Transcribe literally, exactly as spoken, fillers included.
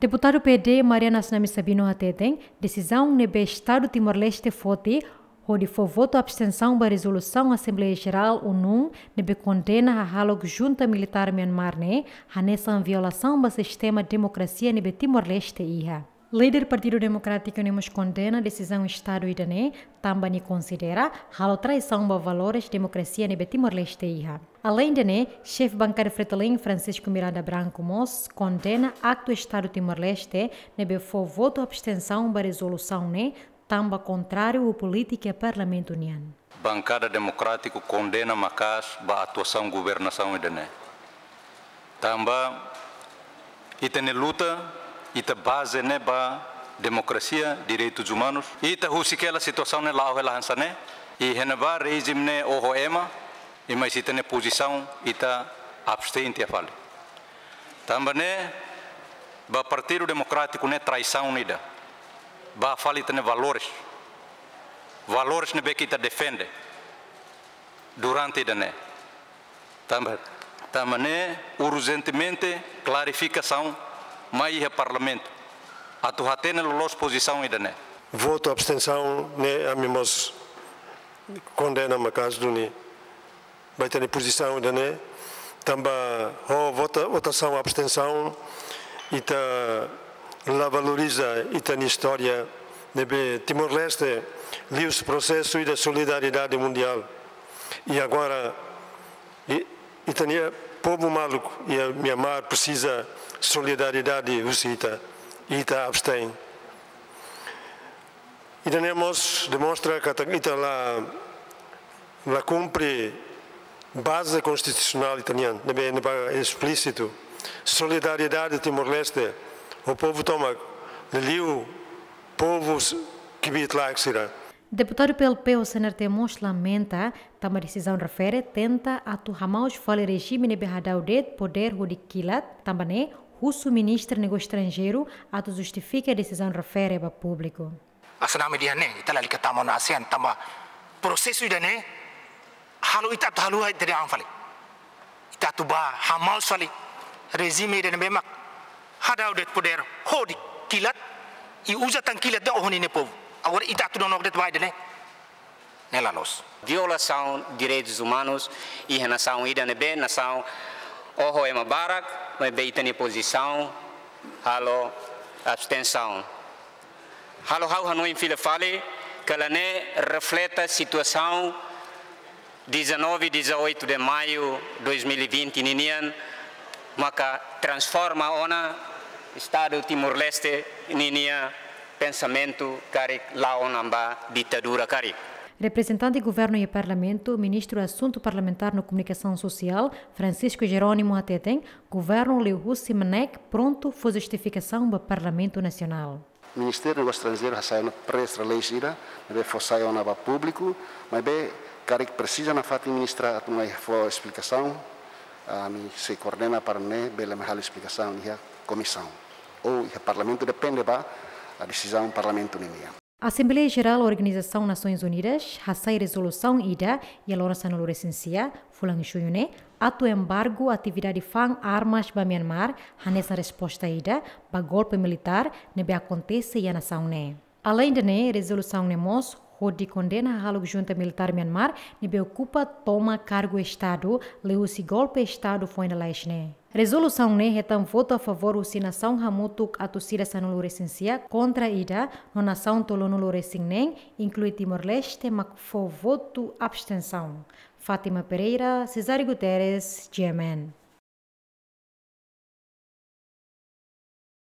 Deputadu P D Mariana Asnami Sabino hateten, desizaun ne'ebé Estadu Timor-Leste foti hodi fó votu abstensaun ba rezolusaun Asembleia Jerál ONU ne'ebé kondena hahalok junta militár Myanmar ne'e hanesan violasaun ba sistema demokrasia ne'ebé Timor-Leste iha. Líder Partidu Demokrátiku ne'e mós kondena desizaun Estadu ida-ne'e, tanba nia konsidera halo traisaun ba valores demokrasia ne'ebé Timor-Leste iha. Aleinde ne'e, xefe bankada Fretilin Francisco Miranda Branco mós kondena aktu Estadu Timor-Leste ne'ebé fó votu abstensaun ba rezolusaun ne'e, tanba kontráriu ho polítika Parlamentu nian. Bankada Demokrátiku kondena maka'as ba atuasaun governasaun ida-ne'e. Tanba ita-nia luta, ita baze ne'e ba demokrasia, direitus umanus. Ita husik hela situasaun ne'e la'o hela hanesan ne'e, i iha ne'ebá rejime ne'e oho ema, i mais ita-nia pozisaun, ita abstein tiha fali. Tanba ne'e, ba Partidu Demokrátiku ne'e traisaun ida ba fali ita-nia valores. Valores ne'ebé ke ita defende durante ida-ne'e. Tanba, tanba ne'e urjentemente klarifikasaun mai iha Parlamentu atu hatene loloos pozisaun ida-ne'e. Votu abstensaun ne'e ami mós kondena maka'as duni ba ita-nia pozisaun ida-ne'e, tanba ho vota, votasaun abstensaun, ita la valoriza ita-nia istória ne'ebé Timor-Leste liu prosesu ida solidariedade mundiál. I agora, i, ita-nia povu maluk iha Myanmar presiza solidariedade husi ita, ita abstein. Ida-ne'e mós demonstra katak ita la, la kumpre baze konstitusionál ita-nian, ne'ebé, ne'ebé esplísitu. Solidariedade Timor-Leste ho povu tomak, liuliu povu kbiit-laek sira. Deputadu P L P husi N R T mós lamenta tanba desizaun refere tenta atu hamaus fali rejime ne'ebé hadau de'it podér hodi kilat, tanba ne'e husu Ministra Negósiu Estranjeiru atu justifika desizaun refere ba públiku. Asnami dehan ne'e, ita lalika tama ona ASEAN tanba prosesu ida-ne'e halo ita atu haluha ita-nia an fali. Ita atu bá hamaus fali rejime ida ne'ebé mak hadau de'it podér hodi kilat, i uza tan kilat de'it oho ninia povu. Agora ita atu nonook de'it ba ida-ne'e, ne'e la loos. Violasaun direitus umanus iha nasaun ida ne'ebé nasaun oho ema barak, maibé ita-nia pozisaun halo abstensaun. Halo ha'u hanoin fila fali, katak ne'e refleta situasaun dezanove, dezoito de maio dois mil e vinte ninian, maka transforma ona Estadu Timor-Leste ninia pensamentu karik la'o ona ba ditadura karik. Reprezentante Governu iha Parlamentu, Ministru Asuntu Parlamentár no Komunikasaun Sosiál, Francisco Jerónimo hateten, Governu liuhusi MNEK prontu fó justifikasaun ba Parlamentu Nasionál. Ministériu Negósiu Estranjeiru hasai ona press release ida, ne'ebé fó sai ona ba públiku, maibé karik presiza nafatin ministra atu mai fó esplikasaun, ami sei koordena para ne'e bele mai halo esplikasaun iha komisaun. Ou iha Parlamentu, depende ba desizaun Parlamentu ninian. Asembleia Jerál Organizasaun Nasoins Unidas hasai rezolusaun ida iha loron sanulu-resin-sia, fulan Juñu ne'e, atu embargu atividade fa'an armas ba Myanmar, hanesan resposta ida ba golpe militár ne'ebé akontese iha nasaun ne'e. Aleinde ne'e, rezolusaun ne'e mós hodi kondena hahalok junta militár Myanmar ne'ebé okupa toma kargu Estadu liuhusi golpe Estadu foin lalais ne'e. Rezolusaun ne'e hetan votu a favór husi nasaun hamutuk atus ida sanulu-resin-sia, kontra ida, no nasaun tolunulu-resin-neen, inklui Timor-Leste, mak fó votu abstensaun. Fátima Pereira, Cesário Guterres, G M N.